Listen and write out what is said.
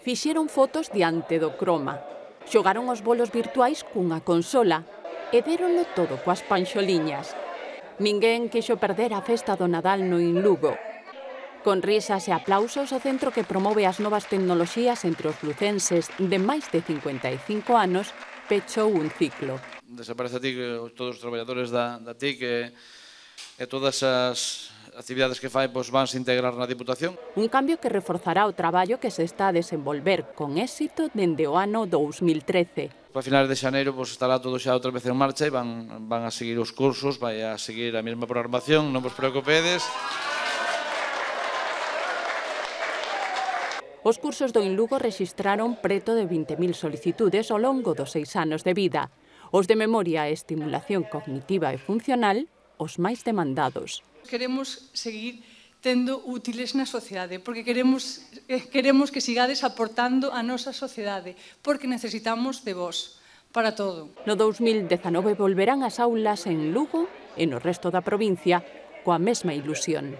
Fixeron fotos diante do croma, xogaron os bolos virtuais cunha consola e déronlo todo coas panxoliñas. Ninguén quixo perder a festa do Nadal no Inlugo. Con risas e aplausos, o centro que promove as novas tecnoloxías entre os lucenses de máis de 55 anos pechou un ciclo. Desaparece a TIC, todos os traballadores da TIC e todas as actividades que fai van se integrar na Diputación. Un cambio que reforzará o traballo que se está a desenvolver con éxito dende o ano 2013. A finales de xaneiro estará todo xa outra vez en marcha e van a seguir os cursos, vai a seguir a mesma programación, non vos preocupedes. Os cursos do Inlugo rexistraron preto de 20.000 solicitudes ao longo dos 6 anos de vida. Os de memoria e estimulación cognitiva e funcional, os máis demandados. Queremos seguir tendo útiles na sociedade, porque queremos que sigades aportando á nosa sociedade, porque necesitamos de vos para todo. No 2019 volverán as aulas en Lugo e no resto da provincia coa mesma ilusión.